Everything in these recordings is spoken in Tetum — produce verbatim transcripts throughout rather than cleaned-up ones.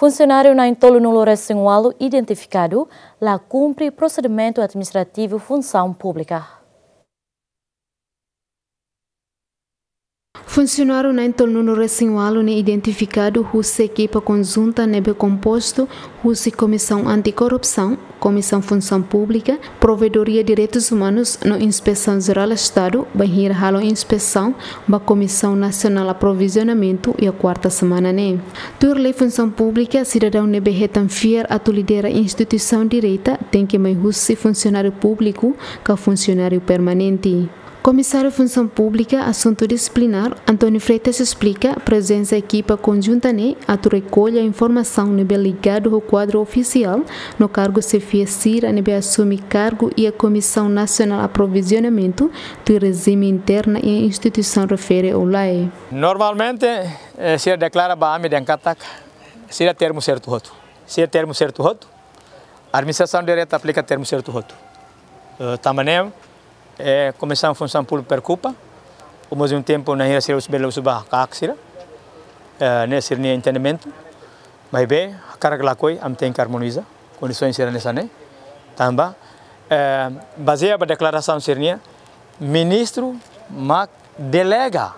Funsionáriu na'in-tolunulu-resin-ualu identifikadu la kumpre prosedimentu administrativu funsaun públika. Funsionáriu na'in-tolunulu-resin-ualu ne'e identifikadu husi ekipa konjunta ne'ebé kompostu husi Komisaun Antikorrupsaun, Komisaun Funsaun Públika, Provedoria Direitus Umanus no Inspesaun Jerál Estadu bainhira halo inspesaun ba Komisaun Nasionál Aprovizionamentu iha kuarta semana ne'e. Tuir lei funsaun públika, sidadaun ne'ebé hetan fiar atu lidera instituisaun direta tenke mai husi funsionáriu públiku ka funsionáriu permanente. Komisáriu Funsaun Públika Asuntu Disiplinár, António Freitas esplika prezensa ekipa konjunta ne'e atu rekolla informasaun ne'ebé ligadu ho kuadru ofisiál no kargu xefia sira ne'ebé asume kargu iha Komisaun Nasionál Aprovizionamentu tuir rejime interna iha instituisaun refere ou lae. Normalmente, eh, sira deklara ba ami dehan katak sira termu sertu hotu. Sira termu sertu hotu. Administrasaun direta aplika termu sertu hotu. Eh, tanba ne'e, eh, Komisaun Funsaun Públika preokupa, ao mesmo tempo, nainhira sira husu bele husu ba kaak sira, eh, ne'e sira-nia entendimentu, maibé, hakarak ka lakohi, ami tenke armoniza kondisaun sira hanesan ne'e, tanba, eh, bazeia ba deklarasaun sira-nian, ministru mak delega,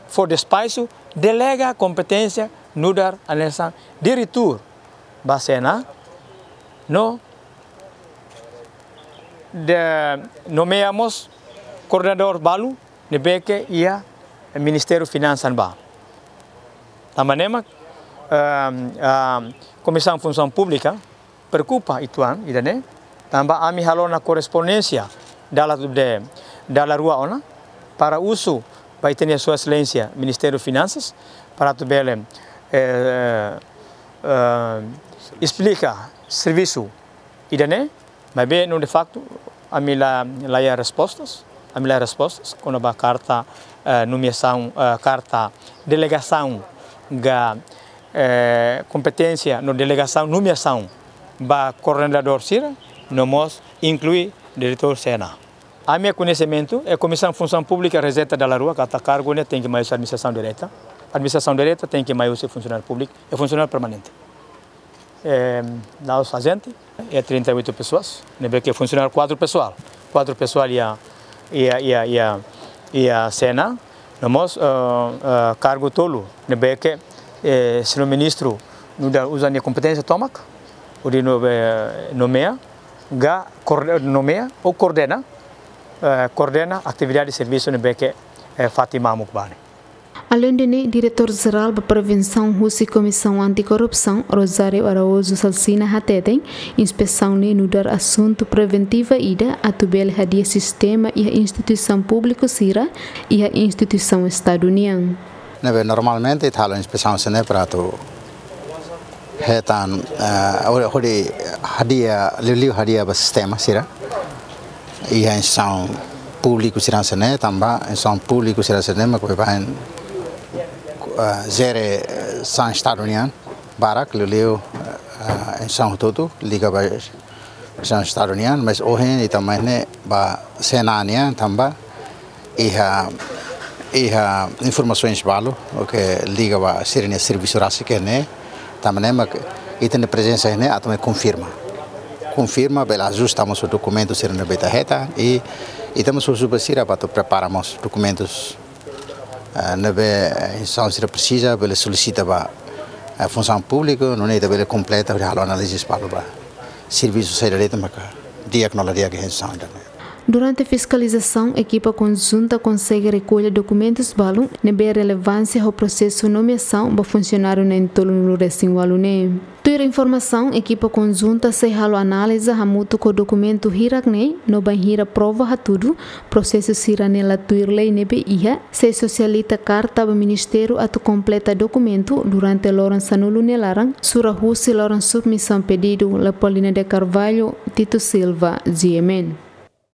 fó despaxu, delega kompeténsia nu'udar hanesan diretór ba CNA, no de, nomeia mós koordenadór balu ne'ebé ke iha Ministériu Finansas ba. Tanba ne'e mak, ehm, ehm, Komisaun Funsaun Públika preokupa uitoan ida-ne'e, tanba ami halo ona korrespondénsia dala de, dala rua ona, para husu ba ita-nia Sua Exelénsia Ministériu Finansas, para atu bele, eh, eh, esplika servisu ida-ne'e, maibé no de facto, ami la, la iha respostas, ami la iha respostas, kona-ba karta, eh, nomeasaun, eh, karta delegasaun ka, eh, kompeténsia no delegasaun nomeasaun ba koordenadór sira, no mós inklui diretór CNA. Ami-nia koñesimentu, eh, Komisaun Funsaun Públika rejeita dala rua, katak kargu ne'e tenke mai husi administrasaun direta. Administrasaun direta tenke mai husi funsionáriu públiku, eh, funsionáriu permanente. Eh, la'ós ajente, iha trinta e oito pessoas, ne'ebé ke funsionáriu kuadru pesoál. Kuadru pesoál iha, iha, iha, iha, iha CNA, no mós, eh, eh, kargu tolu, ne'ebé ke, eh, señór ministru nu'udar uza nia kompeténsia tomak, hodi no, eh, nomeia, ka koorde-, nomeia ou koordena, eh, koordena atividade servisu ne'ebé ke, eh, fatin mamuk ba ne'e. Aleinde ne'e, Diretór Jerál ba Prevensaun husi Komisaun Antikorrupsaun, Rosário Araújo Salsina hateten, inspesaun ne'e nu'udar asuntu preventiva ida atu bele hadi'a sistema iha instituisaun públiku sira, iha instituisaun Estadu nian. Ne'ebé normalmente ita halo inspesaun sira-ne'e para atu hetan, eh, hodi, hodi hadi'a, liuliu hadi'a ba sistema sira. Iha instituisaun públiku sira hanesan ne'e, tanba instituisaun públiku sira hanesan ne'e mak baibain, eh, jere, eh, sasán Estadu nian barak, liuliu, eh, instituisaun hotu-hotu liga ba sasán Estadu nian, mas ohin ita mai ne'e ba CNA nian, tanba iha, iha informasaun balu, oke, liga ba sira-nia servisu rasik ne'e, tanba ne'e mak ita-nia prezensa ne'e atu mai konfirma. Konfirma, bele ajusta mós dokumentu sira ne'ebé ita hetan, i ita mós husu ba sira para atu prepara mós dokumentus, eh, ne'ebé, eh, instituisaun sira presiza, bele solisita ba, eh, Funsaun Públika, nune'e ita bele kompleta, hodi halo análize balu ba servisu saida de'it maka di'ak no la di'ak iha instituisaun ida-ne'e. Durante fiskalizasaun, ekipa konjunta konsege rekolla dokumentus balu ne'ebé relevánsia ho prosesu nomeasaun ba funsionáriu na'in-tolunulu-resin-ualu ne'e. Tuir informasaun, ekipa konjunta sei halo análize hamutuk ho dokumentu hirak ne'e, no bainhira prova hatudu prosesu sira-ne'e la tuir lei ne'ebé iha, sei sosialita karta ba ministériu atu kompleta dokumentu durante loron sanulu nia laran, sura husi loron submisaun pedidu. Leopoldina de Carvalho, Tito Silva, G M N.